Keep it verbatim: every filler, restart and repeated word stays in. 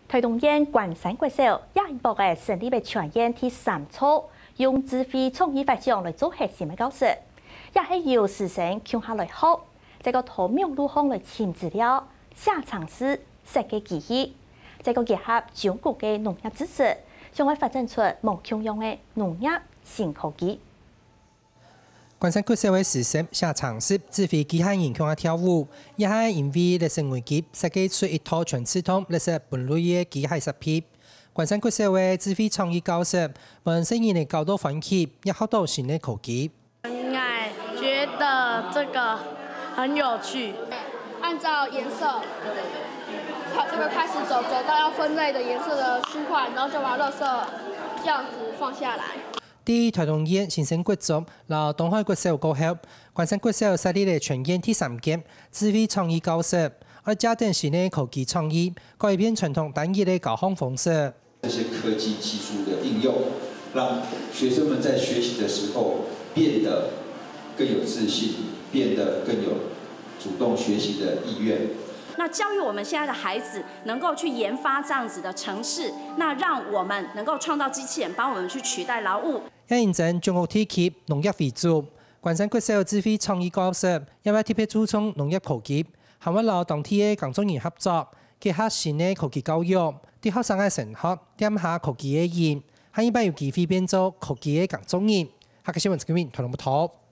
臺東縣關山國小這一駁仔成立个全縣第三座，用智慧創意發想來做核心个教室，也係由師生共下來學，再過到網路項來尋資料、寫程式、設計機器，再過結合中國个農業知識，想愛發展出無共樣个農業新科技。 關山國小个師生寫程式、指揮機械人共下跳舞，也係因為綠色危機設計出一套全自動綠色分類个機械設備。關山國小个智慧創意教室，分細人仔搞到歡喜，也學到新个科技。 我觉得这个很有趣。按照颜色，朝这个开始走，走到要分类的颜色的区块，然后就把垃圾这样子放下来。在臺東縣新生國中摎東海國小過後，關山國小設立了全縣第三間智慧創意教室，愛借等新个科技創意，改變傳統單一个教學方式。 这些科技技术的应用，让学生们在学习的时候变得更有自信，变得更有主动学习的意愿。那教育我们现在的孩子能够去研发这样子的程式，那让我们能够创造机器人帮我们去取代劳务。也因應中國地區農業為主，關山國小智慧創意教室也會特別注重農業科技，還會摎當地个工作人合作，結合新个科技教育，對學生个升學點下科技个因，下一擺有機會變做科技个工作人。客家新聞陳君明，臺東報導。